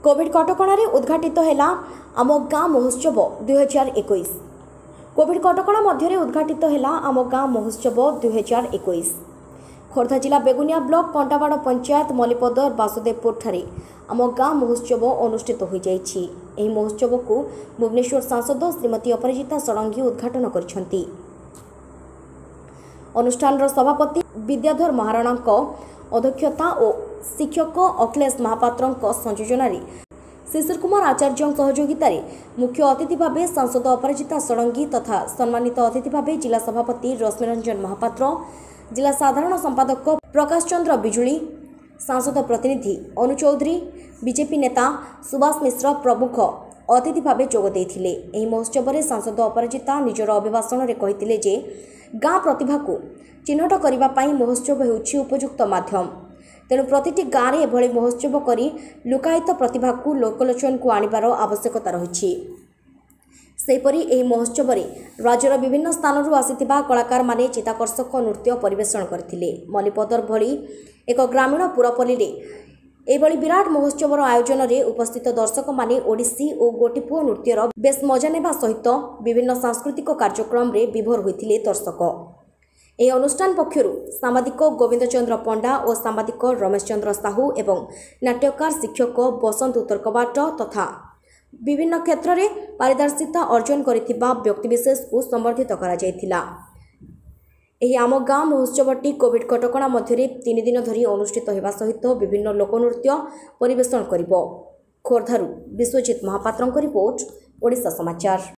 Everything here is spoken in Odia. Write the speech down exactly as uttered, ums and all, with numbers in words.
କୋଭିଡ୍ କଟକଣାରେ ଉଦ୍ଘାଟିତ ହେଲା ଆମ ଗାଁ ମହୋତ୍ସବ ଦୁଇହଜାର ଏକୋଇଶ। କୋଭିଡ୍ କଟକଣା ମଧ୍ୟରେ ଉଦ୍ଘାଟିତ ହେଲା ଆମ ଗାଁ ମହୋତ୍ସବ ଦୁଇହଜାର ଏକୋଇଶ। ଖୋର୍ଦ୍ଧା ଜିଲ୍ଲା ବେଗୁନିଆ ବ୍ଲକ କଣ୍ଟାବାଡ଼ ପଞ୍ଚାୟତ ମଲିପଦର ବାସୁଦେବପୁରଠାରେ ଆମ ଗାଁ ମହୋତ୍ସବ ଅନୁଷ୍ଠିତ ହୋଇଯାଇଛି। ଏହି ମହୋତ୍ସବକୁ ଭୁବନେଶ୍ୱର ସାଂସଦ ଶ୍ରୀମତୀ ଅପରାଜିତା ଷଡ଼ଙ୍ଗୀ ଉଦ୍ଘାଟନ କରିଛନ୍ତି। ଅନୁଷ୍ଠାନର ସଭାପତି ବିଦ୍ୟାଧର ମହାରଣାଙ୍କ ଅଧ୍ୟକ୍ଷତା ଓ ଶିକ୍ଷକ ଅଖିଳେଶ ମହାପାତ୍ରଙ୍କ ସଂଯୋଜନାରେ ଶିଶିର କୁମାର ଆଚାର୍ଯ୍ୟଙ୍କ ସହଯୋଗିତାରେ ମୁଖ୍ୟ ଅତିଥି ଭାବେ ସାଂସଦ ଅପରାଜିତା ଷଡ଼ଙ୍ଗୀ ତଥା ସମ୍ମାନିତ ଅତିଥି ଭାବେ ଜିଲ୍ଲା ସଭାପତି ରଶ୍ମିରଞ୍ଜନ ମହାପାତ୍ର, ଜିଲ୍ଲା ସାଧାରଣ ସମ୍ପାଦକ ପ୍ରକାଶ ଚନ୍ଦ୍ର ବିଜୁଳି, ସାଂସଦ ପ୍ରତିନିଧି ଅନୁ ଚୌଧୁରୀ, ବିଜେପି ନେତା ସୁବାସ ମିଶ୍ର ପ୍ରମୁଖ ଅତିଥି ଭାବେ ଯୋଗ ଦେଇଥିଲେ। ଏହି ମହୋତ୍ସବରେ ସାଂସଦ ଅପରାଜିତା ନିଜର ଅଭିଭାଷଣରେ କହିଥିଲେ ଯେ ଗାଁ ପ୍ରତିଭାକୁ ଚିହ୍ନଟ କରିବା ପାଇଁ ମହୋତ୍ସବ ହେଉଛି ଉପଯୁକ୍ତ ମାଧ୍ୟମ। ତେଣୁ ପ୍ରତିଟି ଗାଁରେ ଏଭଳି ମହୋତ୍ସବ କରି ଲୁକାୟିତ ପ୍ରତିଭାକୁ ଲୋକଲୋଚନକୁ ଆଣିବାର ଆବଶ୍ୟକତା ରହିଛି। ସେହିପରି ଏହି ମହୋତ୍ସବରେ ରାଜ୍ୟର ବିଭିନ୍ନ ସ୍ଥାନରୁ ଆସିଥିବା କଳାକାରମାନେ ଚିତ୍ତାକର୍ଷକ ନୃତ୍ୟ ପରିବେଷଣ କରିଥିଲେ। ମଲିପଦର ଭଳି ଏକ ଗ୍ରାମୀଣ ପୁରପଲ୍ଲୀରେ ଏଭଳି ବିରାଟ ମହୋତ୍ସବର ଆୟୋଜନରେ ଉପସ୍ଥିତ ଦର୍ଶକମାନେ ଓଡ଼ିଶୀ ଓ ଗୋଟିପୁଅ ନୃତ୍ୟର ବେଶ୍ ମଜା ନେବା ସହିତ ବିଭିନ୍ନ ସାଂସ୍କୃତିକ କାର୍ଯ୍ୟକ୍ରମରେ ବିଭୋର ହୋଇଥିଲେ ଦର୍ଶକ। ଏହି ଅନୁଷ୍ଠାନ ପକ୍ଷରୁ ସାମ୍ବାଦିକ ଗୋବିନ୍ଦ ଚନ୍ଦ୍ର ପଣ୍ଡା ଓ ସାମ୍ବାଦିକ ରମେଶ ଚନ୍ଦ୍ର ସାହୁ ଏବଂ ନାଟ୍ୟକାର ଶିକ୍ଷକ ବସନ୍ତ ଉତ୍ତରକବାଟ ତଥା ବିଭିନ୍ନ କ୍ଷେତ୍ରରେ ପାରିଦର୍ଶିତା ଅର୍ଜନ କରିଥିବା ବ୍ୟକ୍ତିବିଶେଷଙ୍କୁ ସମ୍ବର୍ଦ୍ଧିତ କରାଯାଇଥିଲା। ଏହି ଆମ ଗାଁ ମହୋତ୍ସବଟି କୋଭିଡ୍ କଟକଣା ମଧ୍ୟରେ ତିନି ଦିନ ଧରି ଅନୁଷ୍ଠିତ ହେବା ସହିତ ବିଭିନ୍ନ ଲୋକନୃତ୍ୟ ପରିବେଷଣ କରିବ। ଖୋର୍ଦ୍ଧାରୁ ବିଶ୍ୱଜିତ ମହାପାତ୍ରଙ୍କ ରିପୋର୍ଟ, ଓଡ଼ିଶା ସମାଚାର।